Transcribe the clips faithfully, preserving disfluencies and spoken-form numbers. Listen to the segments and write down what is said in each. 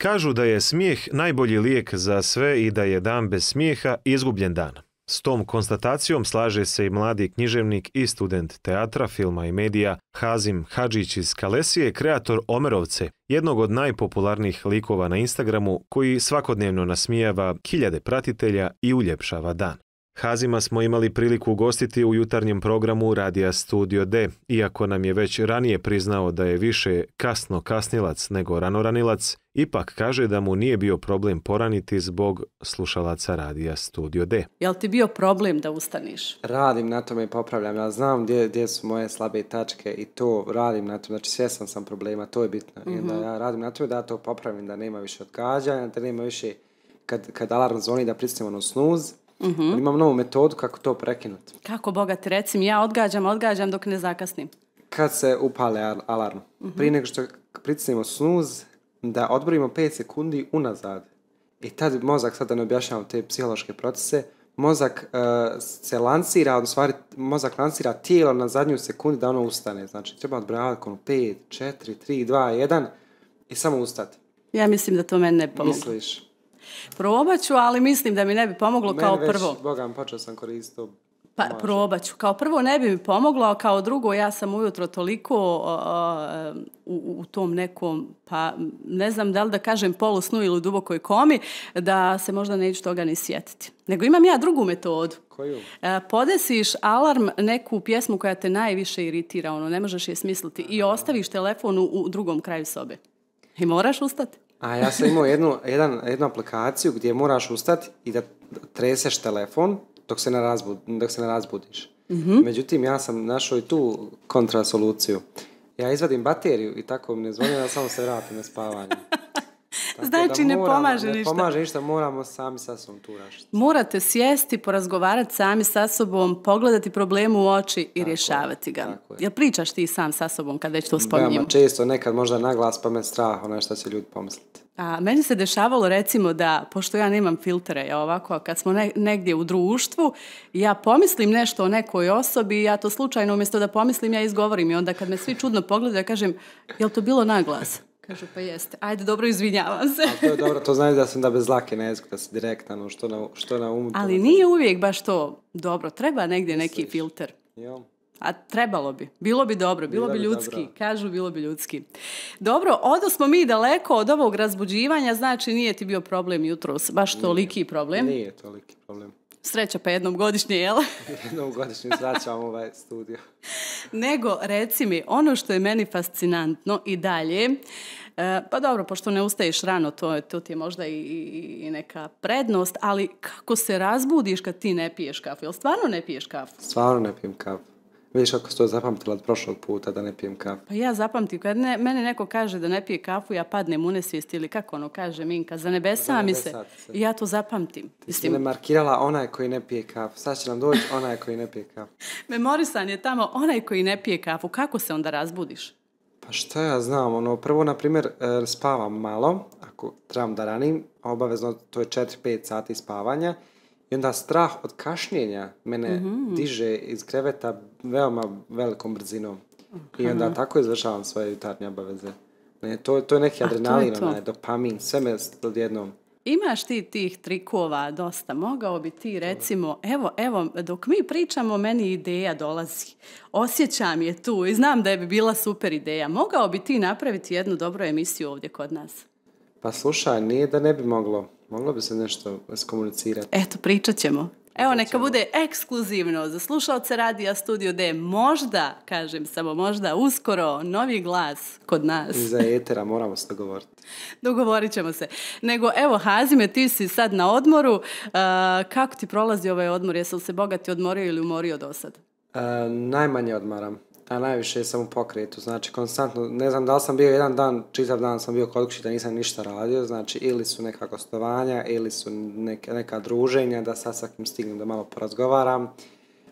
Kažu da je smijeh najbolji lijek za sve i da je dan bez smijeha izgubljen dan. S tom konstatacijom slaže se i mladi književnik i student teatra, filma i medija Hazim Hadžić iz Kalesije, kreator Omerovce, jednog od najpopularnijih likova na Instagramu koji svakodnevno nasmijava hiljade pratitelja i uljepšava dan. Hazima smo imali priliku ugostiti u jutarnjem programu Radija Studio D, iako nam je već ranije priznao da je više kasno kasnilac nego ranoranilac, ipak kaže da mu nije bio problem poraniti zbog slušalaca Radija Studio D. Jel ti bio problem da ustaniš? Radim na tome i popravljam. Ja znam gdje, gdje su moje slabe tačke i to radim na tome. Znači svjestan sam problema, to je bitno. Mm-hmm. I da ja radim na tome da to popravim, da nema više odgađanja, da nema više kad, kad alarm zvoni da pristanemo na snuz. Mm-hmm. Imam novu metodu kako to prekinuti. Kako, Boga ti, recim, ja odgađam, odgađam dok ne zakasnim. Kad se upale alarm, mm-hmm. prije nego što pritisnemo snuz, da odbrojimo pet sekundi unazad. I tad mozak, sad da ne objašnjavam te psihološke procese, mozak uh, se lansira, odnosno mozak lansira tijelo na zadnju sekundu da ono ustane. Znači, treba odbrojavati ono pet, četiri, tri, dva, jedan i samo ustati. Ja mislim da to meni ne pomogu. Misliš? Probat ću, ali mislim da mi ne bi pomoglo meni kao već, prvo. Boga mi počeo sam koristiti. Pa probat ću. Kao prvo ne bi mi pomoglo, a kao drugo ja sam ujutro toliko uh, u, u tom nekom, pa ne znam da li da kažem polusnu ili u dubokoj komi, da se možda neću toga ni sjetiti. Nego imam ja drugu metodu. Koju? Uh, podesiš alarm, neku pjesmu koja te najviše iritira, ono, ne možeš je smisliti, i ostaviš telefon u, u drugom kraju sobe. I moraš ustati. A ja sam imao jednu, jedan, jednu aplikaciju gdje moraš ustati i da treseš telefon dok se ne, razbud, dok se ne razbudiš. Mm-hmm. Međutim, ja sam našao i tu kontrasoluciju. Ja izvadim bateriju i tako mi ne zvoni, da samo se vratim na spavanje. Znači ne moramo, pomaže ne ništa. Ne pomaže ništa, moramo sami sa sobom tu rašiti. Morate sjesti, porazgovarati sami sa sobom, pogledati problemu u oči i tako rješavati ga. Je. Jel pričaš ti sam sa sobom kad već to spominjemo? Veoma često, nekad možda naglas pa me strah, ono što će ljudi pomisliti. A meni se dešavalo recimo da, pošto ja nemam filtere, ja ovako, kad smo ne, negdje u društvu, ja pomislim nešto o nekoj osobi, ja to slučajno umjesto da pomislim, ja izgovorim i onda kad me svi čudno pogledaju, ja kažem, jel to bilo naglas? Kažu, pa jeste. Ajde, dobro, izvinjavam se. A to je dobro, to znači da sam da bez lake na jeziku, da si direktan, što na, što na umu. Ali nije uvijek baš to dobro. Treba negdje neki Misliš? filter. Jo. A trebalo bi. Bilo bi dobro, bilo, bilo bi ljudski. Dobro. Kažu, bilo bi ljudski. Dobro, odosmo mi daleko od ovog razbuđivanja, znači nije ti bio problem jutros, baš toliki problem. Nije toliki problem. Sreća pa jednom godišnje, jel? jednom godišnje srećam ovaj studio. Nego, reci mi, ono što je meni fascinantno i dalje, e, pa dobro, pošto ne ustaješ rano, to, to ti je možda i, i, i neka prednost, ali kako se razbudiš kad ti ne piješ kafu? Jel stvarno ne piješ kafu? Stvarno ne pijem kafu. Vidiš kako se to zapamtila od prošlog puta da ne pijem kafu. Pa ja zapamtim, kad ne, mene neko kaže da ne pije kafu, ja padnem u nesvijest ili kako ono kaže Minka, za nebesa mi se. I ja to zapamtim. Ti si me markirala onaj koji ne pije kafu. Sad će nam doći onaj koji ne pije kafu. Memorisan je tamo onaj koji ne pije kafu. Kako se onda razbudiš? Pa šta ja znam, ono, prvo, na primjer, spavam malo, ako trebam da ranim, obavezno to je četiri pet sati spavanja. I onda strah od kašnjenja mene mm-hmm. diže iz kreveta veoma velikom brzinom. Okay. I onda tako izvršavam svoje jutarnje obaveze. Ne, to, to je neki adrenalin, to je to. Dopamin, sve me odjednom. Imaš ti tih trikova dosta. Mogao bi ti recimo, evo, evo, dok mi pričamo, meni ideja dolazi. Osjećam je tu i znam da je bi bila super ideja. Mogao bi ti napraviti jednu dobru emisiju ovdje kod nas? Pa slušaj, nije da ne bi moglo. Moglo bi se nešto skomunicirati. Eto, pričat ćemo. Evo, neka bude ekskluzivno za slušalce Radija Studio D. Možda, kažem samo možda, uskoro novi glas kod nas. Iza etera moramo se dogovoriti. Dogovorit ćemo se. Nego, evo, Hazime, ti si sad na odmoru. Uh, kako ti prolazi ovaj odmor? Jesi li se bogati odmorio ili umorio do sad? Uh, najmanje odmaram. A najviše sam u pokretu, znači konstantno, ne znam da li sam bio jedan dan, čitav dan sam bio kod kuće da nisam ništa radio, znači ili su neka gostovanja, ili su neka, neka druženja, da sad sa kim stignem da malo porazgovaram.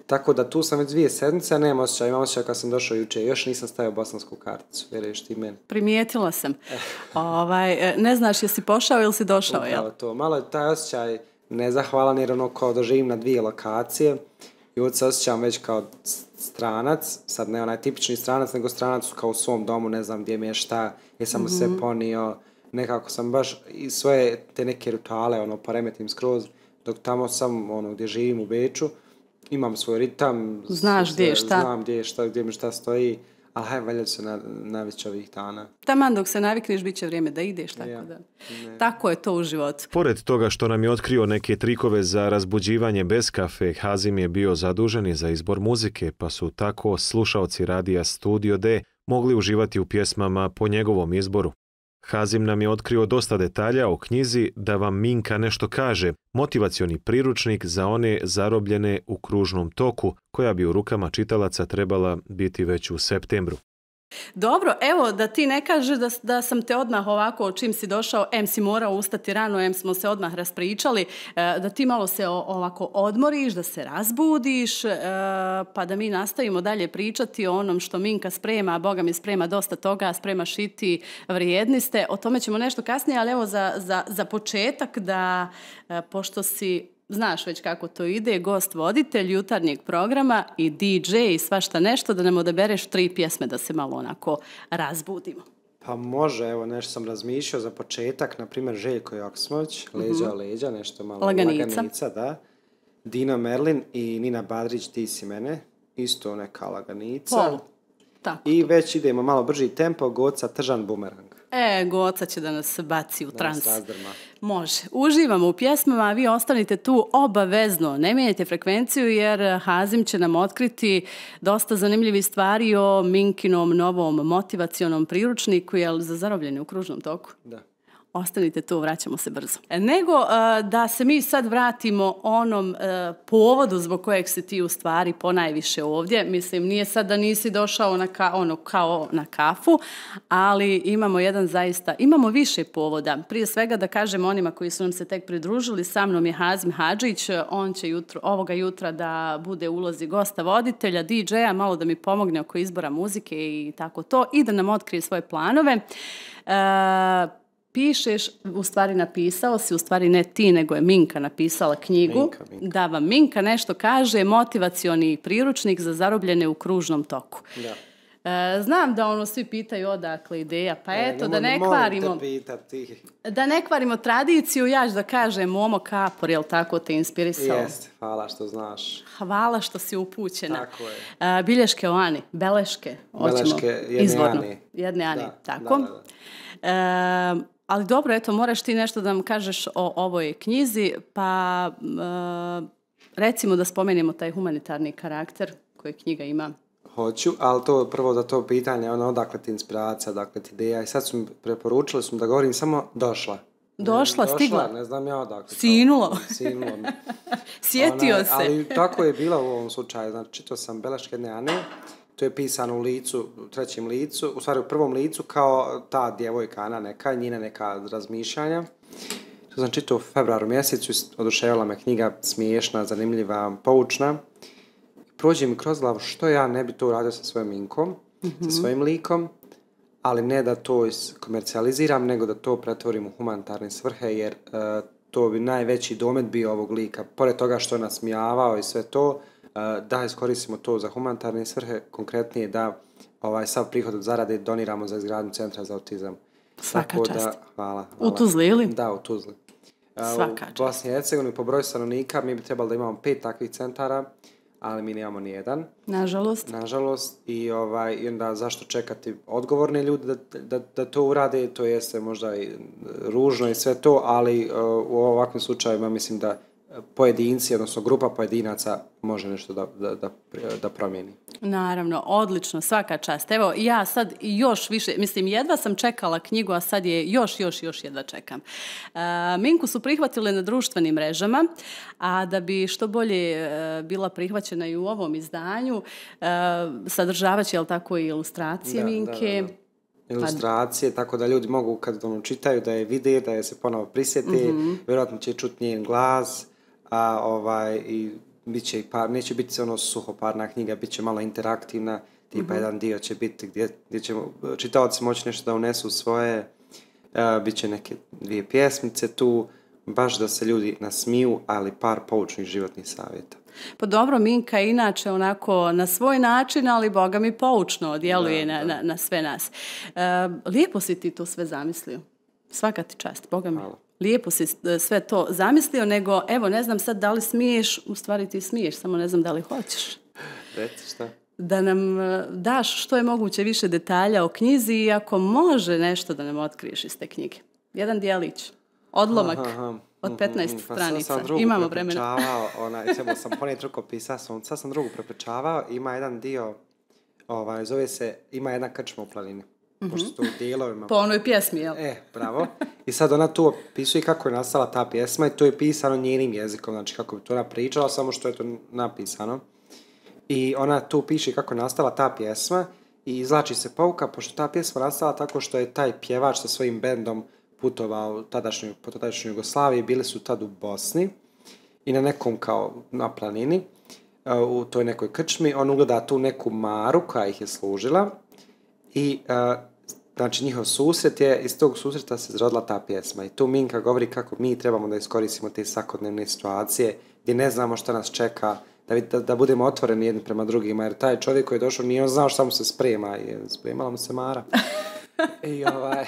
Tako da tu sam već dvije sedmice, a nemam osjećaj, imam osjećaj kad sam došao juče, još nisam stavio bosansku karticu, vjeruješ ti meni. Primijetila sam. ovaj, ne znaš jesi pošao ili si došao, jel? To, malo je taj osjećaj nezahvalan jer ono kao da živim na dvije lokacije i ovdje se osjećam već kao stranac, sad ne onaj tipični stranac, nego stranac kao u svom domu, ne znam gdje mi je šta, jesam mu mm-hmm. sve ponio, nekako sam baš i svoje te neke rituale ono, poremetim skroz, dok tamo sam ono, gdje živim u Beču, imam svoj ritam. Znaš gdje je šta. Znam gdje je šta, gdje mi šta stoji, ali hajde valjda se na, navići ovih dana. Taman dok se navikneš, bit će vrijeme da ideš, tako ja. da. Ne. Tako je to u životu. Pored toga što nam je otkrio neke trikove za razbuđivanje bez kafe, Hazim je bio zadužen i za izbor muzike, pa su tako slušaoci radija Studio D mogli uživati u pjesmama po njegovom izboru. Hazim nam je otkrio dosta detalja o knjizi Da vam Minka nešto kaže, motivacioni priručnik za one zarobljene u kružnom toku, koja bi u rukama čitalaca trebala biti već u septembru. Dobro, evo da ti ne kažeš da, da sam te odmah ovako, čim si došao, em si morao ustati rano, em smo se odmah raspričali, da ti malo se ovako odmoriš, da se razbudiš, pa da mi nastavimo dalje pričati o onom što Minka sprema, a Boga mi sprema dosta toga, spremaš i ti, vrijedni ste, o tome ćemo nešto kasnije, ali evo za, za, za početak da, pošto si znaš već kako to ide, gost voditelj jutarnjeg programa i di džej i svašta nešto, da nam odabereš tri pjesme da se malo onako razbudimo. Pa može, evo nešto sam razmišljao za početak, na primjer Željko Joksmović, Leđa o leđa, nešto malo laganica. laganica, da. Dino Merlin i Nina Badrić, Ti si mene, isto neka laganica. Pol. Tako. I već idemo malo brži tempo, Goca Tržan Bumerang. E, Goca će da nas baci u trans. Može. Uživamo u pjesmama, a vi ostanite tu obavezno. Ne mijenjajte frekvenciju jer Hazim će nam otkriti dosta zanimljivih stvari o Minkinom novom motivacionom priručniku, jel za zarobljene u kružnom toku? Da. Ostanite tu, vraćamo se brzo. Nego uh, da se mi sad vratimo onom uh, povodu zbog kojeg si ti u stvari ponajviše ovdje. Mislim, nije sad da nisi došao na ka, ono, kao na kafu, ali imamo jedan zaista, imamo više povoda. Prije svega da kažem onima koji su nam se tek pridružili, sa mnom je Hazim Hadžić, on će jutro, ovoga jutra da bude u ulozi gosta voditelja, di džeja, malo da mi pomogne oko izbora muzike i tako to, i da nam otkrije svoje planove. Uh, Pišeš, u stvari napisao si, u stvari ne ti, nego je Minka napisala knjigu. Minka, Minka. Da vam Minka nešto kaže, motivacioni priručnik za zarobljene u kružnom toku. Da. E, znam da ono svi pitaju odakle ideja, pa e, eto, ne, da ne kvarimo, da ne kvarimo tradiciju, ja ću da kažem Momo Kapor, jel tako te inspirisao? Jeste, hvala što znaš. Hvala što si upućena. Tako je. E, bilješke o Ani, beleške, beleške jedne izvorno. Ani. Jedne Ani, da, tako. Da, da, da. E, ali dobro, eto, moraš ti nešto da nam kažeš o ovoj knjizi, pa e, recimo da spomenemo taj humanitarni karakter koji knjiga ima. Hoću, ali to prvo da to pitanje, ono, odakle ti inspiracija, odakle ti ideja, i sad su mi preporučili su mi da govorim samo došla. Došla, došla stigla. Ne znam ja odakle. Sinulo. Sinulo. Sjetio Ona, se. Ali tako je bilo u ovom slučaju. Znači, čitao sam beleške jedne Ane, to je pisano u licu, u trećem licu, u stvari u prvom licu, kao ta djevojka Ana neka, njina neka razmišljanja. To sam čitao u februaru mjesecu, oduševila me knjiga, smiješna, zanimljiva, poučna. Prođe mi kroz glavu što ja ne bi to uradio sa svojim Minkom, mm-hmm. sa svojim likom, ali ne da to komercijaliziram, nego da to pretvorim u humanitarne svrhe, jer uh, to bi najveći domet bio ovog lika. Pored toga što je nasmijavao i sve to, uh, da iskoristimo to za humanitarne svrhe, konkretnije da ovaj sav prihod od zarade doniramo za izgradnju centra za autizam. Svaka Tako čast. Da, hvala, hvala. U Tuzli ili? Da, u Tuzli. Uh, Svaka u Bosni i Hercegovini po broju stanovnika mi bi trebalo da imamo pet takvih centara, ali mi nemamo nijedan. Nažalost. Nažalost. I, ovaj, i onda zašto čekati odgovorne ljude da, da, da to urade, to jeste možda i ružno i sve to, ali uh, u ovakvim slučajima mislim da pojedinci, odnosno grupa pojedinaca može nešto da, da, da, da promijeni. Naravno, odlično, svaka čast. Evo, ja sad još više, mislim, jedva sam čekala knjigu, a sad je još, još, još jedva čekam. Uh, Minku su prihvatile na društvenim mrežama, a da bi što bolje uh, bila prihvaćena i u ovom izdanju, uh, sadržavaće, jel tako, i ilustracije da, Minke. Da, da, da. Ilustracije, pa tako da ljudi mogu kad ono čitaju, da je vide, da je se ponovo prisjeti, mm-hmm. vjerojatno će čuti njen glas, a ovaj i bit će i par, neće biti ono suhoparna knjiga, bit će malo interaktivna, tipa mm-hmm. jedan dio će biti gdje, gdje će čitaoci moći nešto da unesu svoje, uh, bit će neke dvije pjesmice tu, baš da se ljudi nasmiju, ali par poučnih životnih savjeta. Pa dobro, Minka inače onako na svoj način, ali Boga mi poučno djeluje da, na, da. Na, na sve nas. Uh, lijepo si ti to sve zamislio. Svaka ti čast, Boga mi. Hvala. Lijepo si sve to zamislio, nego evo ne znam sad da li smiješ, u stvari ti smiješ, samo ne znam da li hoćeš. Reci šta? Da nam daš što je moguće više detalja o knjizi i ako može nešto da nam otkriješ iz te knjige. Jedan dijelić, odlomak aha, aha. od petnaest mm-hmm. stranica. Pa imamo vremena. Ona, ćemo sam ponijeti rukopisa, sam, sad sam drugu preprečavao, ima jedan dio, ovaj, zove se, ima jedna krčma u planini. Mm-hmm. Pošto su dijelovima. Po onoj pjesmi, jel? E, bravo. I sad ona tu opisuje kako je nastala ta pjesma i to je pisano njenim jezikom, znači kako bi to ona pričala, samo što je to napisano. I ona tu piše kako je nastala ta pjesma i izlači se pouka, pošto ta pjesma nastala tako što je taj pjevač sa svojim bendom putovao tadašnju, po tadašnjoj Jugoslaviji, bili su tad u Bosni i na nekom kao na planini, u toj nekoj krčmi, on ugleda tu neku maru koja ih je služila i znači njihov susret je, iz tog susreta se izrodila ta pjesma i tu Minka govori kako mi trebamo da iskoristimo te svakodnevne situacije gdje ne znamo šta nas čeka, da, da, da budemo otvoreni jedni prema drugima, jer taj čovjek koji je došao nije on znao šta mu se sprema i spremala mu se Mara. I, ovaj,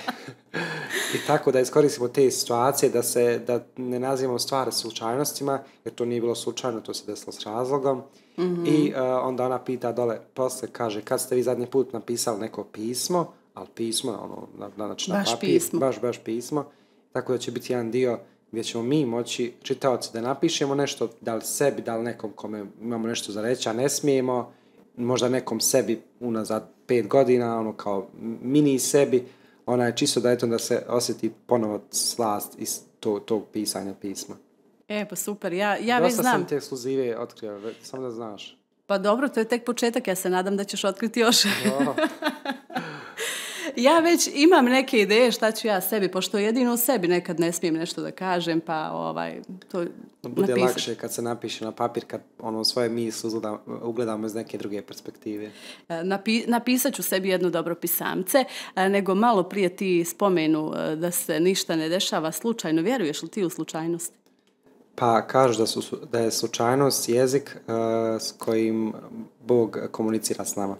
I tako da iskoristimo te situacije, da, se, da ne nazivamo stvari slučajnostima, jer to nije bilo slučajno, to se desilo s razlogom. Mm-hmm. I uh, onda ona pita dole, posle kaže, kad ste vi zadnji put napisali neko pismo, ali pismo, ono, na, znači na baš papir, pismo. baš, baš pismo, tako da će biti jedan dio gdje ćemo mi moći, čitaoci, da napišemo nešto, da li sebi, da li nekom kome imamo nešto za reći, a ne smijemo, možda nekom sebi unazad pet godina, ono kao mini sebi, ona je čisto da eto da se osjeti ponovo slast iz to, tog pisanja pisma. E, pa super, ja, ja već znam. Dosta sam te ekskluzive otkrio, samo da znaš. Pa dobro, to je tek početak, ja se nadam da ćeš otkriti još. Ja već imam neke ideje šta ću ja sebi, pošto jedino u sebi nekad ne smijem nešto da kažem, pa ovaj, to bude napisati. Lakše kad se napiše na papir, kad ono svoje misli ugledamo iz neke druge perspektive. Napi, napisat ću sebi jedno dobro pisamce, nego malo prije ti spomenu da se ništa ne dešava slučajno. Vjeruješ li ti u slučajnost? Pa kažu da, su, da je slučajnost jezik uh, s kojim Bog komunicira s nama.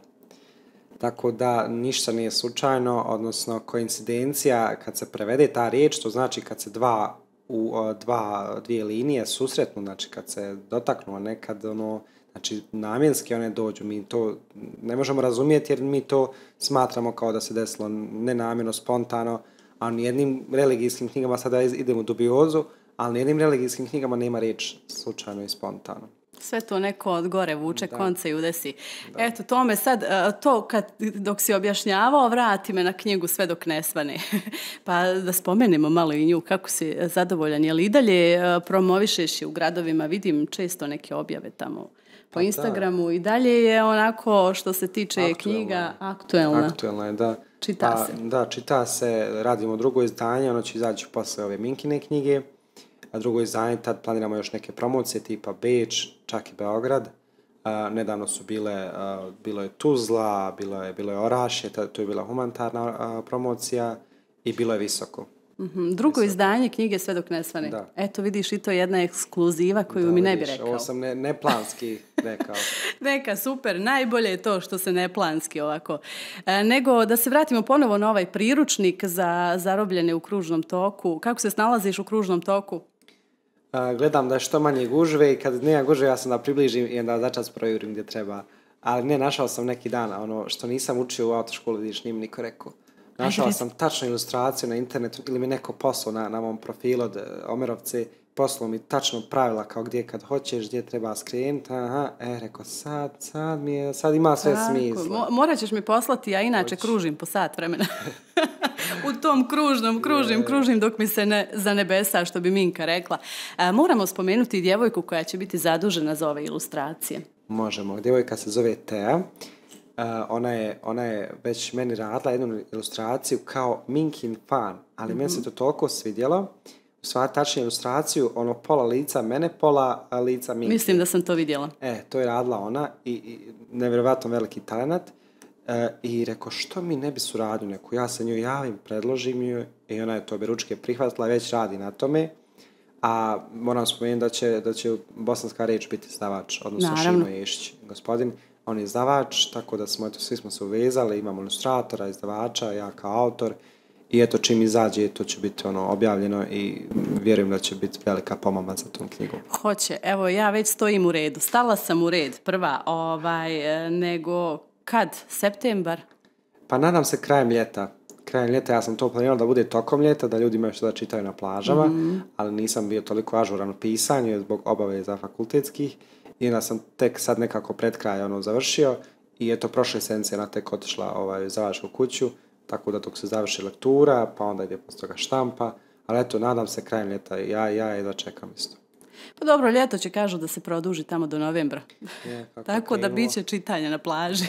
Tako da ništa nije slučajno, odnosno koincidencija kad se prevede ta riječ, to znači kad se dva, u, dva, dvije linije susretnu, znači kad se dotaknu, a nekad ono, znači namjenski one dođu, mi to ne možemo razumjeti jer mi to smatramo kao da se desilo nenamjerno, spontano, a nijednim religijskim knjigama sada idemo u dubiozu, ali nijednim religijskim knjigama nema riječ slučajno i spontano. Sve to neko od gore vuče da. Konce i udesi. Da. Eto, to me sad, to kad, dok si objašnjavao, vrati me na knjigu sve dok ne svane. Pa da spomenemo malo i nju, kako si zadovoljan. Je li i dalje promovišeš je u gradovima? Vidim često neke objave tamo po pa Instagramu. Da. I dalje je onako što se tiče aktuelna. Knjiga aktuelna. Aktuelna je, da. Čita pa, se. Da, čita se, radimo drugo izdanje, ono će izaći posle ove Minkine knjige. A drugo izdanje, tad planiramo još neke promocije tipa Beč, čak i Beograd. Uh, nedavno su bile, uh, bilo je Tuzla, bilo je, bilo je Orašje, tad, to je bila humanitarna uh, promocija i bilo je Visoko. Mm-hmm. Drugo Visoko. Izdanje knjige Sve dok ne svane. Da. Eto vidiš i to je jedna ekskluziva koju da, mi ne bi rekao. Ovo sam ne, neplanski rekao. Neka, super, najbolje je to što se neplanski ovako. E, nego da se vratimo ponovo na ovaj priručnik za zarobljene u kružnom toku. Kako se snalaziš u kružnom toku? Uh, gledam da je što manje gužve i kad nema gužve ja sam da približim i onda začas projurim gdje treba. Ali ne, našao sam neki dan, ono što nisam učio u autoškolu, vidiš, nije mi niko rekao. Našao sam tačnu ilustraciju na internetu ili mi neko poslao na, na mom profilu od Omerovce, poslao mi tačno pravila kao gdje kad hoćeš, gdje treba skrenuti, aha, e, rekao sad, sad mi je, sad ima sve tako, smisla. Mo- morat ćeš mi poslati, ja inače Hoć. kružim po sat vremena. U tom kružnom, kružim, je. kružim dok mi se ne za nebesa, što bi Minka rekla. E, moramo spomenuti djevojku koja će biti zadužena za ove ilustracije. Možemo. Djevojka se zove Tea. Uh, ona, je, ona je već meni radila jednu ilustraciju kao Minkin fan, ali mm-hmm. meni se to toliko svidjelo. U stvari tačnije ilustraciju, ono pola lica mene, pola lica Minke. Mislim da sam to vidjela. E, to je radila ona i, i nevjerovatno veliki talent. E, I rekao, što mi ne bi suradnju neku? Ja se njoj javim, predložim joj i ona je to beručke prihvatila, već radi na tome. A moram spomenuti da će, da će bosanska riječ biti izdavač, odnosno Šimo Ješić, gospodin. On je izdavač, tako da smo, eto, svi smo se uvezali, imamo ilustratora, izdavača, ja kao autor I eto, čim izađe, to će biti ono objavljeno i vjerujem da će biti velika pomama za tom knjigom. Hoće. Evo, ja već stojim u redu. Stala sam u red prva, ovaj, nego kad? Septembar? Pa nadam se krajem ljeta. Krajem ljeta ja sam to planirao da bude tokom ljeta, da ljudi imaju što da čitaju na plažama, mm-hmm. ali nisam bio toliko ažuran u pisanju zbog obaveza fakultetskih i onda sam tek sad nekako pred kraj ono završio i eto prošle sedmice na tek otišla ovaj, za vašu kuću, tako da dok se završi lektura, pa onda ide posle toga štampa, ali eto nadam se krajem ljeta i ja, ja jedva čekam isto. Pa dobro, ljeto će kažu da se produži tamo do novembra. Je, tako da bit će čitanja na plaži.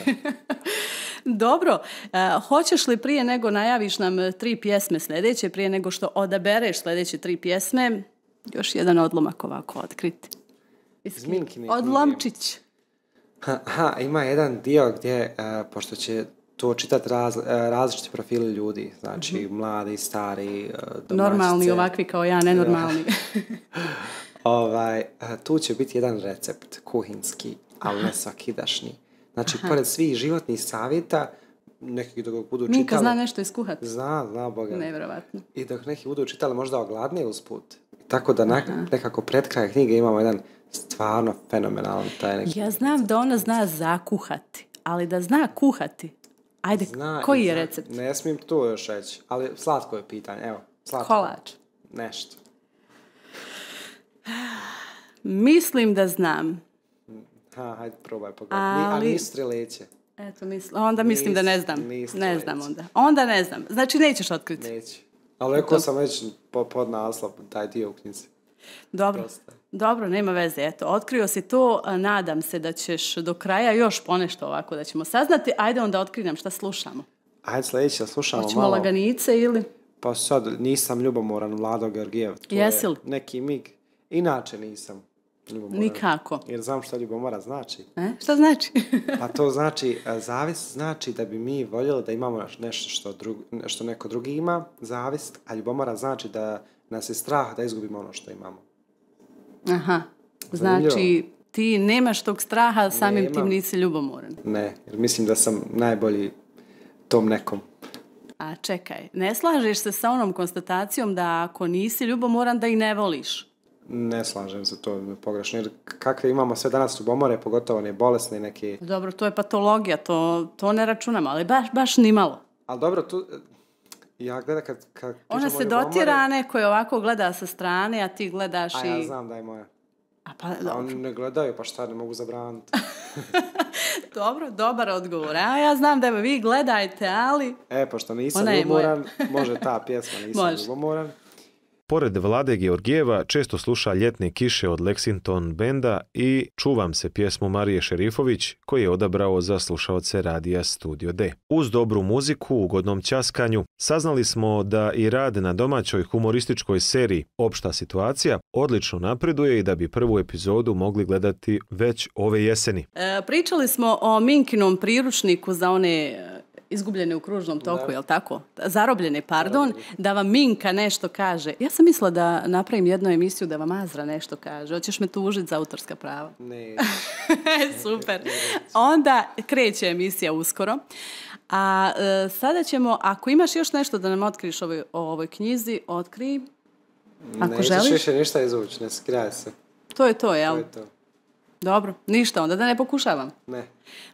Dobro, uh, hoćeš li prije nego najaviš nam tri pjesme sljedeće, prije nego što odabereš sljedeće tri pjesme, još jedan odlomak ovako otkriti. Odlomčić. Ha, ima jedan dio gdje, uh, pošto će to čitati raz, uh, različiti profili ljudi, znači mm-hmm. mladi, stari, uh, domaćice. Normalni, ovakvi kao ja, nenormalni. ovaj, uh, tu će biti jedan recept kuhinski, ali ne svakidašnji. Znači, aha. pored svih životnih savjeta, neki dok budu čitali... Minka zna nešto iskuhati. Zna, zna Boga. Nevjerovatno. I dok neki budu čitali možda ogladne usput. Tako da na, nekako pred kraj knjige imamo jedan stvarno fenomenalan taj neki... Ja znam da ona zna zakuhati, ali da zna kuhati. Ajde, zna, koji je zna, recept? Ne smijem to još reći, ali slatko je pitanje. Evo, slatko. Kolač. Nešto. Mislim da znam. Ha, hajde probaj pogledati. Ali... A nisu streleće. Eto, misl... onda mislim nis, da ne znam. Ne znam onda. Onda ne znam. Znači nećeš otkriti. Neću. Ali rekao sam već po, pod naslov taj dio u knjizi. Dobro. Proste. Dobro, nema veze. Eto, otkrio si to. Nadam se da ćeš do kraja još ponešto ovako da ćemo saznati. Ajde onda otkri nam šta slušamo. Ajde sljedeće da slušamo Hoćemo malo. Hoćemo laganice ili? Pa sad nisam ljubomoran Vlado Georgijev. Jesi li? Neki mig. Inače nisam. Ljubomoran. Nikako. Jer znam šta ljubomora znači. E? Šta znači? Pa to znači, zavist znači da bi mi voljeli da imamo nešto što, drug, što neko drugi ima, zavist, a ljubomora znači da nas je strah da izgubimo ono što imamo. Aha, znači zanimljivo. Ti nemaš tog straha, samim Nemam. Tim nisi ljubomoran. Ne, jer mislim da sam najbolji tom nekom. A čekaj, ne slažeš se sa onom konstatacijom da ako nisi ljubomoran da i ne voliš? Ne slažem se, to je pogrešno. Jer kakve imamo sve danas ljubomore, pogotovo ne bolesne neke... Dobro, to je patologija, to, to ne računamo, ali baš, baš nimalo. Ali dobro, tu... Ja gledam kad... kad Ona se ljubomore... dotira, neko je ovako gleda sa strane, a ti gledaš i... A ja znam da je moja. A pa, a oni ne gledaju, pa šta, ne mogu zabraniti. Dobro, dobar odgovor. A ja znam da vi gledajte, ali... E, pošto nisam ljubomoran, može ta pjesma, nisam može. ljubomoran. Pored Vlade Georgijeva često sluša Ljetne kiše od Lexington benda i Čuvam se pjesmu Marije Šerifović koji je odabrao za slušaoce radija Studio D. Uz dobru muziku, ugodnom ćaskanju, saznali smo da i rad na domaćoj humorističkoj seriji Opšta situacija odlično napreduje i da bi prvu epizodu mogli gledati već ove jeseni. E, pričali smo o Minkinom priručniku za one... izgubljene u kružnom toku, je li tako? Zarobljene, pardon, da vam Minka nešto kaže. Ja sam mislila da napravim jednu emisiju da vam Azra nešto kaže. Hoćeš me tužiti za autorska prava? Ne. Super. Onda kreće emisija uskoro. A e, sada ćemo, ako imaš još nešto da nam otkriš ovoj, o ovoj knjizi, otkrij. Ako želiš. Nećeš više ništa izvući, ne skrivaj se. To je to, jel? To je to. Dobro, ništa, onda da ne pokušavam. Ne.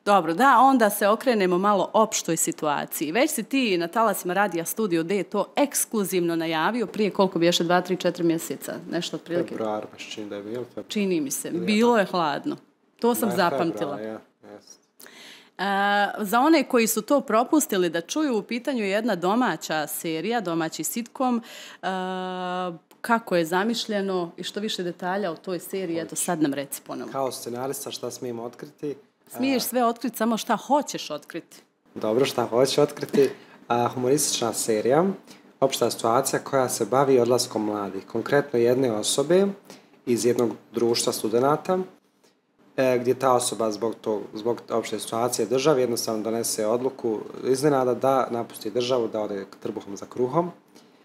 Dobro, da, onda se okrenemo malo opštoj situaciji. Već si ti na talasima radija Studio D to ekskluzivno najavio prije koliko bi još dva, tri, četiri mjeseca, nešto otprilike. Februar, baš čini da je bilo februar. Čini mi se, bilo je hladno. To sam ne, zapamtila. Februar, ja, yes. Uh, za one koji su to propustili da čuju, u pitanju je jedna domaća serija, domaći sitkom, uh, kako je zamišljeno i što više detalja o toj seriji, eto sad nam reci ponovno. Kao scenarista šta smijem otkriti? Smiješ sve otkriti, samo šta hoćeš otkriti. Dobro, šta hoćeš otkriti. A, humoristična serija, opšta situacija koja se bavi odlaskom mladih. Konkretno jedne osobe iz jednog društva studenata, e, gdje ta osoba zbog, tog, zbog opšte situacije države jednostavno donese odluku iznenada da napusti državu, da ode trbuhom za kruhom.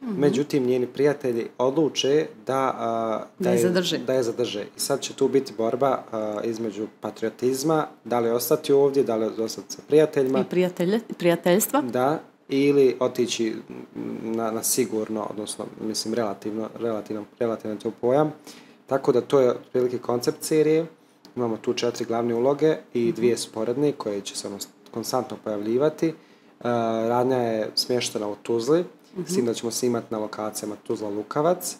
Mm-hmm. Međutim, njeni prijatelji odluče da, uh, da, da, je, zadrže. da je zadrže. I sad će tu biti borba uh, između patriotizma, da li ostati ovdje, da li ostati sa prijateljima. I prijatelj, prijateljstva. Da, ili otići na, na sigurno, odnosno, mislim, relativno, relativno, relativno to pojam. Tako da to je otprilike koncept serije. Imamo tu četiri glavne uloge i dvije sporedne koje će se ono konstantno pojavljivati. Uh, radnja je smještena u Tuzli, mm-hmm. s tim da ćemo snimati na lokacijama Tuzla-Lukavac.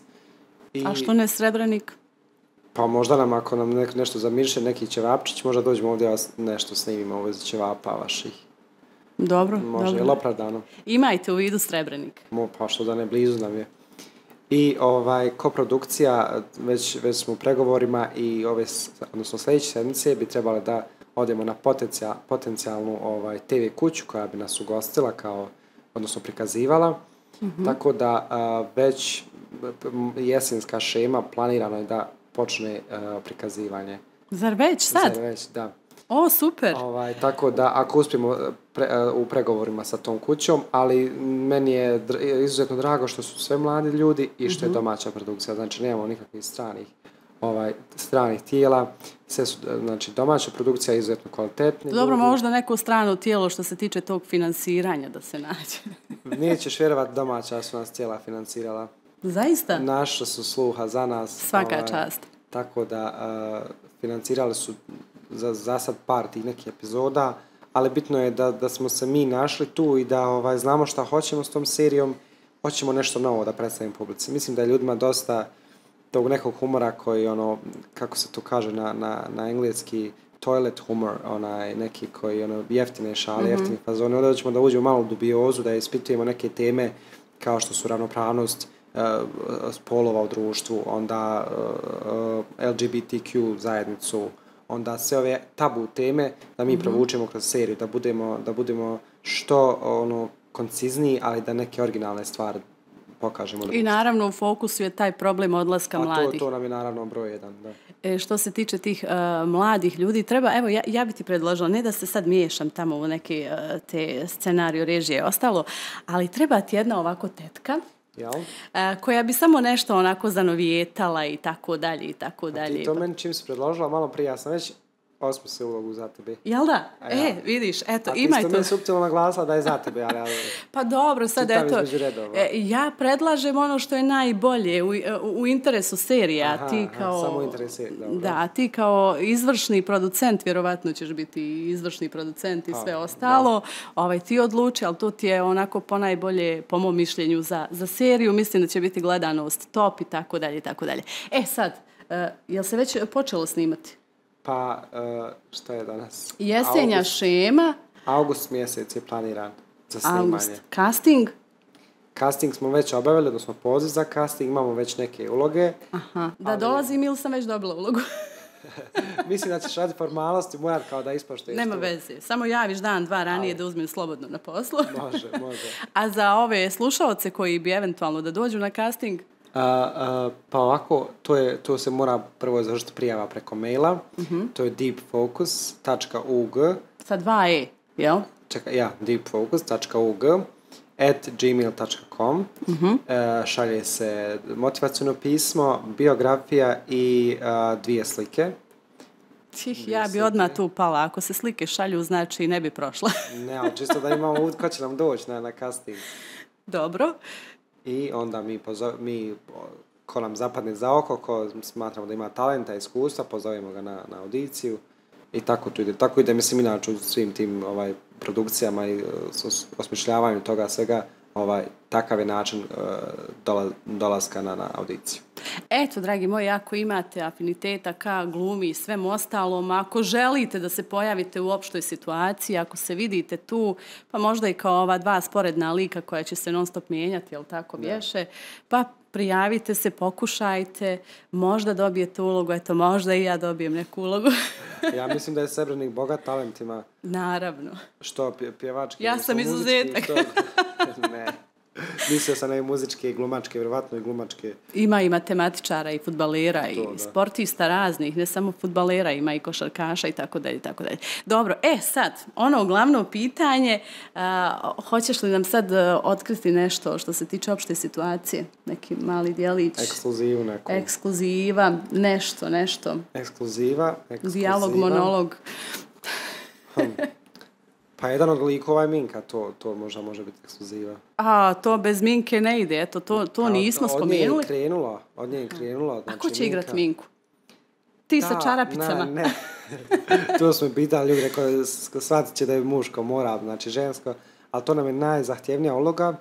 I... A što ne Srebrenik? Pa možda nam, ako nam ne, nešto zamirše, neki ćevapčić, možda dođemo ovdje nešto snimimo u vezi ćevapa vaših. Dobro, može, dobro. Jel opravdano? Imajte u vidu Srebrenik. Mo, pa što da ne, blizu nam je. I ovaj, koprodukcija, već, već smo u pregovorima i ove, odnosno sljedeće sedmice bi trebali da odemo na potencijal, potencijalnu ovaj, te ve kuću koja bi nas ugostila, kao, odnosno prikazivala. Mm-hmm. Tako da a, već jesenska šema planirano je da počne a, prikazivanje. Zar već sad? Zar već, da. O, super. Ovaj, tako da, ako uspijemo pre, u pregovorima sa tom kućom, ali meni je dr- izuzetno drago što su sve mladi ljudi i što mm-hmm. je domaća produkcija. Znači, nemamo nikakvih stranih, ovaj, stranih tijela. Sve su, znači, domaća produkcija je izuzetno kvalitetna. Dobro, ljudi. Možda neko strano tijelo što se tiče tog finansiranja da se nađe. Nećeš vjerovati, domaća su nas tijela finansirala. Zaista? Naša su sluha za nas. Svaka ovaj, čast. Tako da, uh, financirali su za, za sad par tih nekih epizoda, ali bitno je da, da smo se mi našli tu i da ovaj, znamo šta hoćemo s tom serijom, hoćemo nešto novo da predstavimo publici. Mislim da je ljudima dosta tog nekog humora koji, ono, kako se to kaže na, na, na engleski, toilet humor, onaj neki koji, ono, jeftine šale, mm-hmm. jeftine fazone. Onda ćemo da uđemo malo u dubiozu, da ispitujemo neke teme kao što su ravnopravnost uh, spolova u društvu, onda uh, el ge be te kju zajednicu, onda sve ove tabu teme da mi mm-hmm. provučemo kroz seriju, da budemo, da budemo što ono koncizniji, ali da neke originalne stvari pokažemo. I naravno u fokusu je taj problem odlaska A mladih. To, to nam je naravno broj jedan, da. E, što se tiče tih uh, mladih ljudi, treba, evo, ja, ja bi ti predložila, ne da se sad miješam tamo u neke uh, te scenariju, režije i ostalo, ali treba ti jedna ovako tetka, Jel? Uh, koja bi samo nešto onako zanovijetala i tako dalje i tako dalje. A ti to meni čim si predložila, malo prije, ja sam već osmislio ulogu za tebe. Jel da? A ja. E, vidiš, eto, imaj to. A ti imaj isto to. mi suptilno naglasila da je za tebe, ali... ali pa dobro, sad eto, e, ja predlažem ono što je najbolje u, u interesu serija. Aha, ti kao, aha, samo interes je, dobro. Da, ti kao izvršni producent, vjerovatno ćeš biti izvršni producent i sve ha, ostalo, ovaj, ti odluči, ali to ti je onako ponajbolje, po mom mišljenju, za, za seriju. Mislim da će biti gledanost top i tako dalje i tako dalje. E sad, uh, jel se već počelo snimati? Pa, uh, šta je danas? Jesenja august, šema. August mjesec je planiran za snimanje. August. Casting? Casting smo već obavili, odnosno poziv za casting, imamo već neke uloge. Aha, da ali... dolazim ili sam već dobila ulogu? Mislim da ćeš raditi formalnosti, morat kao da ispoštuješ. Nema to. veze, samo javiš dan, dva ranije ali... da uzmem slobodno na poslu. Može, može. A za ove slušalce koji bi eventualno da dođu na casting? Uh, uh, pa ovako, to, je, to se mora prvo završiti prijava preko maila. Mm-hmm. To je deepfocus dot u g. Sa dva e, jel? Čekaj, ja, deepfocus dot u g at gmail dot com. Mm-hmm. Uh, šalje se motivacijno pismo, biografija i uh, dvije slike. Čih, ja bi odmah tu pala. Ako se slike šalju, znači ne bi prošla. Ne, ali čisto da imamo uvijek ko će nam doći na, na casting. Dobro. I onda mi, pozove, mi ko nam zapadne za oko, ko smatramo da ima talenta i iskustva, pozovemo ga na, na audiciju i tako to ide. Tako ide, mislim, inače u svim tim ovaj, produkcijama i os, osmišljavanju toga svega, ovaj, takav je način uh, dola, dolaska na, na audiciju. Eto, dragi moji, ako imate afiniteta ka glumi i svem ostalom, ako želite da se pojavite u opštoj situaciji, ako se vidite tu, pa možda i kao ova dva sporedna lika koja će se non stop mijenjati, jel tako bješe, pa prijavite se, pokušajte, možda dobijete ulogu, eto, možda i ja dobijem neku ulogu. Ja mislim da je Srebrenik bogat talentima. Naravno. Što, pjevački? Ja sam izuzetak. Ne. Mislio sam na i muzičke i glumačke, vjerovatno i glumačke. Ima i matematičara i fudbalera to, i da. sportista raznih, ne samo fudbalera, ima i košarkaša i tako dalje, tako dalje. Dobro, e sad, ono glavno pitanje, a, hoćeš li nam sad otkriti nešto što se tiče opšte situacije? Neki mali dijelić? Ekskluzivu neku. Ekskluziva, nešto, nešto. Ekskluziva, ekskluziva. Dijalog, monolog. Hmm. Pa jedan od likova je Minka, to, to možda može biti ekskluziva. A, to bez Minke ne ide, eto, to, to nismo spomenuli. Od nje je krenula, od nje je krenula. Znači, a ko će Minka... igrat Minku? Ti da, sa čarapicama? Ne, ne. To smo pitali ljudi, rekao, shvatit će da je muško, mora, znači žensko, ali to nam je najzahtjevnija uloga,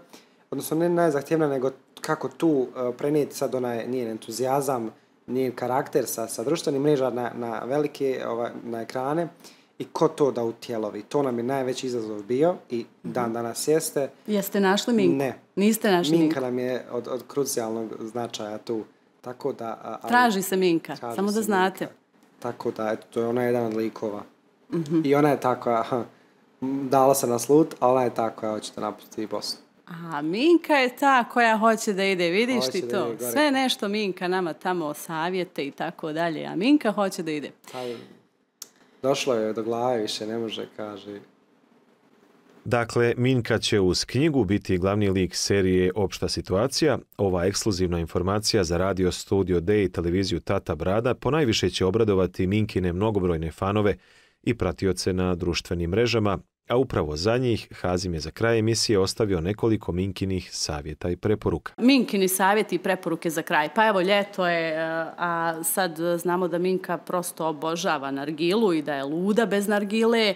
odnosno ne najzahtjevnija, nego kako tu uh, prenijeti sad onaj njen entuzijazam, njen karakter sa, sa društvenim mreža na, na velike, ovaj, na ekrane, i ko to da utjelovi. To nam je najveći izazov bio i dan danas jeste. Jeste našli Minku? Ne. Niste našli Minku? Minka nam je od, od krucijalnog značaja tu. Tako da, ali, traži se Minka, traži samo da znate. Minka. Tako da, eto, to je ona jedan od likova. Mm-hmm. I ona je tako, aha, dala se na slut, a ona je ta koja hoće da napusti Bosnu. A Minka je ta koja hoće da ide, vidiš hoće ti to? Sve nešto Minka nama tamo savjete i tako dalje, a Minka hoće da ide. Taj, došlo je do glave, više ne može, kaže. Dakle, Minka će uz knjigu biti glavni lik serije Opšta situacija. Ova ekskluzivna informacija za radio Studio D i televiziju Tata Brada ponajviše će obradovati Minkine mnogobrojne fanove i pratioce na društvenim mrežama, a upravo za njih Hazim je za kraj emisije ostavio nekoliko Minkinih savjeta i preporuka. Minkini savjeti i preporuke za kraj. Pa evo, ljeto je, a sad znamo da Minka prosto obožava nargilu i da je luda bez nargile,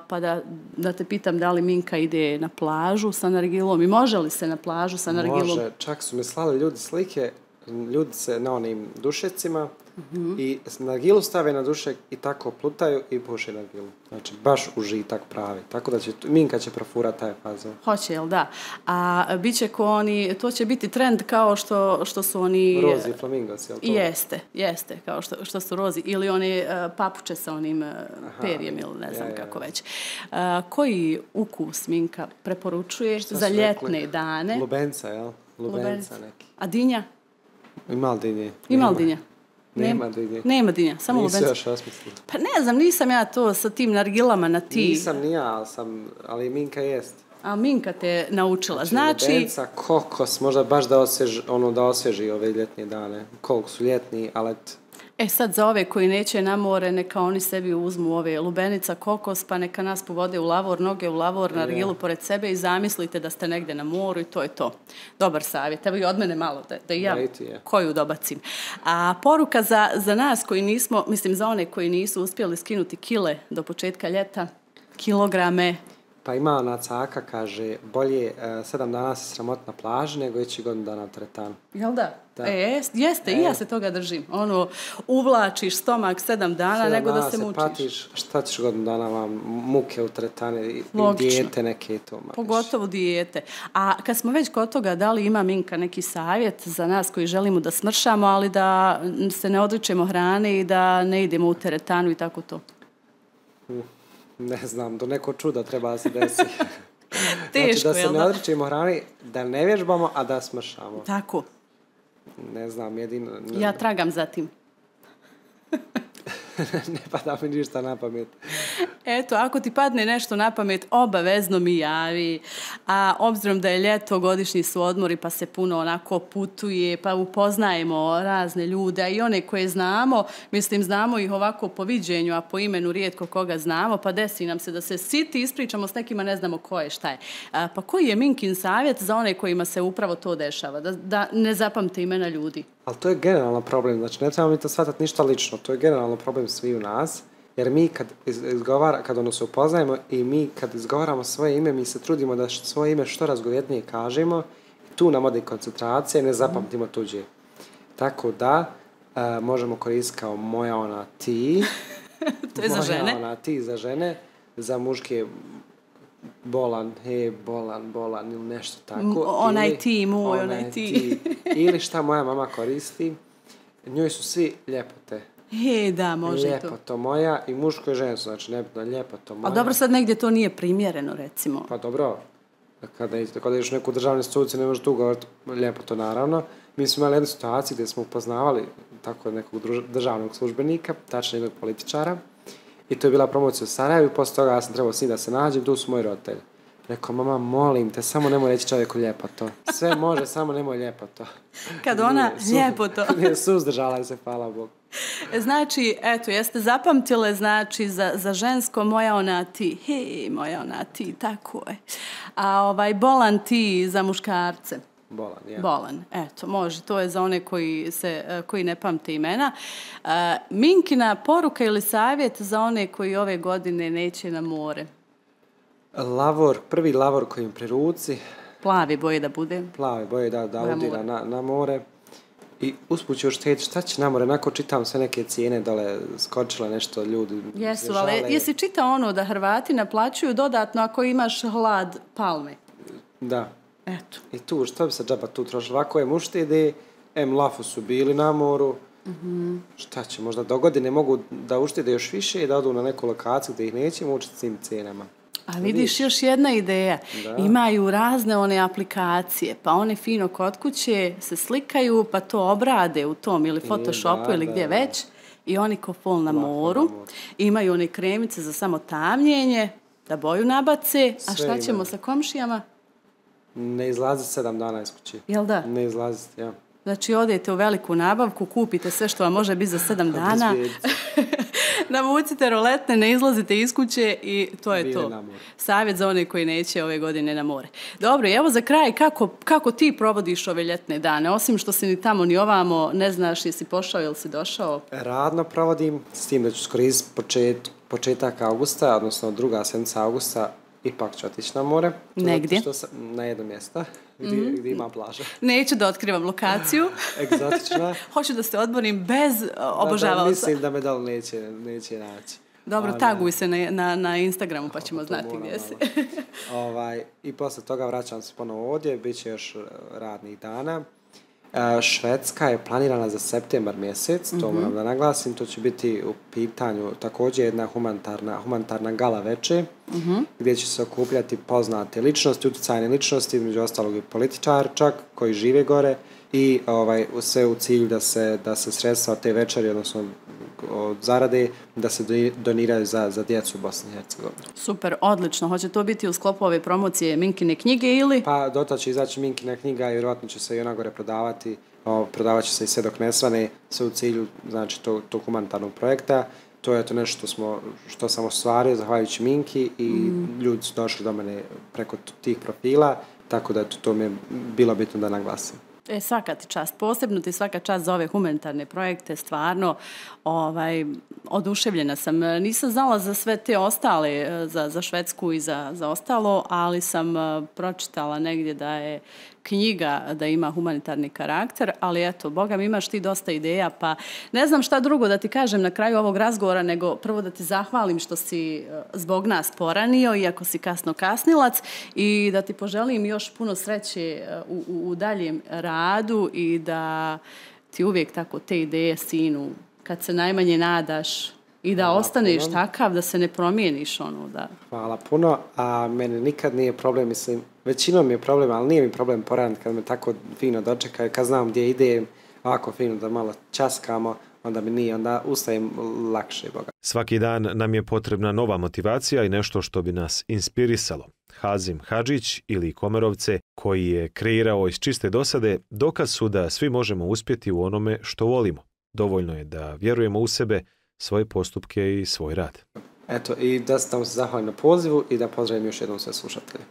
pa da, da te pitam da li Minka ide na plažu sa nargilom i može li se na plažu sa nargilom? Može, čak su mi slali ljudi slike, ljudi se na onim dušecima, mm-hmm. i nargilu stave na dušek i tako plutaju i puše nargilu. Znači, baš užitak pravi. Tako da će, Minka će profurati taj fazon. Hoće, jel da? A bit će ko oni, to će biti trend kao što, što su oni... Rozi i flamingos, jel to? Jeste, jeste, kao što, što su rozi. Ili one uh, papuče sa onim uh, perjem, ili ne znam ja, kako ja. već. Uh, koji ukus Minka preporučuje šta za ljetne rekli? Dane? Lubenca, jel? Lubenca, Lubenca neki. A dinja? Ima li dinje? Ima li dinja? Nema dinje. Nema dinja, samo lubenca. Lubenca. Nisi još osmislila. Pa ne znam, nisam ja to sa tim nargilama na ti. Nisam ni ja, ali, sam, ali Minka jest. A Minka te naučila. Znači... Lubenca, kokos, možda baš da osvježi, ono, da osvježi ove ljetnije dane. Koliko su ljetni, ali... E sad za ove koji neće na more, neka oni sebi uzmu ove lubenica, kokos, pa neka nas povode u lavor, noge u lavor, nargilu pored sebe i zamislite da ste negdje na moru i to je to. Dobar savjet. Evo i od mene malo, da, da i ja koju dobacim. A poruka za, za nas koji nismo, mislim za one koji nisu uspjeli skinuti kile do početka ljeta, kilograme. Pa ima ona caka, kaže, bolje uh, sedam dana se sramot na plaži nego ići godinu dana u teretanu. Jel da? Da. E, jeste, e. I ja se toga držim. Ono, uvlačiš stomak sedam dana sedam nego da se, se mučiš. Patiš, šta ćeš godinu dana vam muke u teretane i dijete neke to. Mariš. Pogotovo dijete. A kad smo već kod toga, da li ima Minka neki savjet za nas koji želimo da smršamo, ali da se ne odričemo hrane i da ne idemo u teretanu i tako to? Mm. Ne znam, do neko čuda treba da se desi. Teško, znači, da se ne odričemo hrani, da ne vježbamo, a da smršamo. Tako. Ne znam, jedino... Ne... Ja tragam za tim. Ne pada mi ništa na pamet. Eto, ako ti padne nešto na pamet, obavezno mi javi. A obzirom da je ljeto, godišnji su odmori, pa se puno onako putuje, pa upoznajemo razne ljude, a i one koje znamo, mislim, znamo ih ovako po viđenju, a po imenu rijetko koga znamo, pa desi nam se da se siti, ispričamo s nekima, ne znamo ko je, šta je. A, pa koji je Minkin savjet za one kojima se upravo to dešava, da, da ne zapamte imena ljudi? Ali to je generalno problem, znači ne trebamo mi to shvatati ništa lično, to je generalno problem svi u nas, jer mi kad izgovara, kad ono se upoznajemo i mi kad izgovaramo svoje ime, mi se trudimo da svoje ime što razgovjetnije kažemo, tu nam ode koncentracija i ne zapamtimo tuđe. Tako da, uh, možemo koristiti kao moja ona ti, to je za žene. Moja ona ti za žene, za muške bolan, he, bolan, bolan ili nešto tako. Onaj ili, ti, moj, onaj, onaj ti. ti. Ili šta moja mama koristi, njoj su svi ljepote. He, da, može ljepoto to. Ljepoto moja i muško i žensko, znači nebitno, ljepoto moja. A dobro, sad negdje to nije primjereno, recimo. Pa dobro, kada, kada ideš u neku državnu instituciju, ne možeš tu govoriti ljepoto, naravno. Mi smo imali jednu situaciju gdje smo upoznavali tako nekog državnog službenika, tačno jednog političara. I to je bila promocija u Sarajevu, posle toga ja sam trebao s njim da se nađem, tu su moji roditelji. Rekao, mama, molim te, samo nemoj reći čovjeku ljepoto. Sve može, samo nemoj ljepoto. Kad ona nije, ljepoto. Nije suzdržala se, hvala Bogu. Znači, eto, jeste zapamtile, znači, za, za žensko moja ona ti, hej, moja ona ti, tako je. A ovaj, bolan ti za muškarce. Bolan, ja. Bolan, eto, može, to je za one koji, se, koji ne pamte imena. Uh, Minkina poruka ili savjet za one koji ove godine neće na more? Lavor, prvi lavor koji im pri ruci. Plavi boje da bude. Plavi boje da, da udira na, na more. I usput ću još htjeti šta će na more. Onako čitam sve neke cijene dole, skočile nešto ljudi. Jesu, ali jesi čitao ono da Hrvati naplaćuju dodatno ako imaš hlad palme? Da. Eto. I tu, što bi se džaba tu trošilo? Ovako je uštede, em lafu su bili na moru. Mm-hmm. Šta će, možda do godine mogu da uštede još više i da odu na neku lokaciju gdje ih neće mučiti s tim cijenama. A vidiš, još jedna ideja. Da. Imaju razne one aplikacije, pa one fino kod kuće se slikaju, pa to obrade u tom ili Photoshopu da, ili gdje da, već. I oni ko fol na moru. Imaju one kremice za samo tamljenje, da boju nabace. A šta ćemo ima. Sa komšijama? Ne izlazi sedam dana iz kuće. Jel da? Ne izlazi, ja. Znači, odete u veliku nabavku, kupite sve što vam može biti za sedam dana. Navucite roletne, ne izlazite iz kuće i to je Bile to. Savjet za one koji neće ove godine na more. Dobro, evo za kraj, kako, kako ti provodiš ove ljetne dane? Osim što si ni tamo ni ovamo, ne znaš jesi pošao ili si došao? Radno provodim, s tim da ću skoristiti počet, početak augusta, odnosno druga sedmica augusta, ipak ću otići na more. Negdje? Što sam, na jedno mjesto gdje, mm-hmm. gdje ima plaža. Neću da otkrivam lokaciju. Egzotična. Hoću da se odmorim bez obožavaoca. Mislim da me dal neće, neće naći. Dobro, Ona, taguj se na, na, na Instagramu pa ćemo znati gdje si. ovaj, I posle toga vraćam se ponovo ovdje, bit će još radnih dana. Švedska je planirana za septembar mjesec, to mm-hmm. moram da naglasim, to će biti u pitanju također jedna humanitarna, humanitarna gala veče, mm-hmm. gdje će se okupljati poznate ličnosti, utjecajne ličnosti, među ostalog i političar čak, koji žive gore i ovaj, sve u cilju da se, da se sredstva od te večeri, odnosno od zarade, da se doniraju za, za djecu u Bosni i Hercegovini. Super, odlično. Hoće to biti u sklopu ove promocije Minkine knjige ili? Pa dotad će izaći Minkina knjiga i vjerojatno će se i ona gore prodavati. O, prodavat će se i sve dok ne svane, sve u cilju znači, tog, tog humanitarnog projekta. To je to nešto što, smo, što sam ostvario zahvaljujući Minki i mm. ljudi su došli do mene preko tih profila, tako da to, to mi je bilo bitno da naglasim. E, svaka ti čast, posebno ti svaka čast za ove humanitarne projekte, stvarno ovaj, oduševljena sam. Nisam znala za sve te ostale, za, za Švedsku i za, za ostalo, ali sam uh, pročitala negdje da je knjiga da ima humanitarni karakter, ali eto, Boga mi imaš ti dosta ideja, pa ne znam šta drugo da ti kažem na kraju ovog razgovora, nego prvo da ti zahvalim što si zbog nas poranio, iako si kasno kasnilac, i da ti poželim još puno sreće u, u, u daljem radu i da ti uvijek tako te ideje sinu, kad se najmanje nadaš, i da Hvala ostaneš puno. Takav, da se ne promijeniš ono, da... Hvala puno, a meni nikad nije problem, mislim, većinom je problem, ali nije mi problem poraniti kad me tako fino dočekaju, kad znam gdje idem, ovako fino da malo časkamo, onda mi nije, onda ustajem lakše, Boga. Svaki dan nam je potrebna nova motivacija i nešto što bi nas inspirisalo. Hazim Hadžić ili Komerovce, koji je kreirao iz čiste dosade, dokaz su da svi možemo uspjeti u onome što volimo. Dovoljno je da vjerujemo u sebe, svoje postupke i svoj rad. Eto, i da sam se zahvalim na pozivu i da pozdravim još jednom sve slušatelje.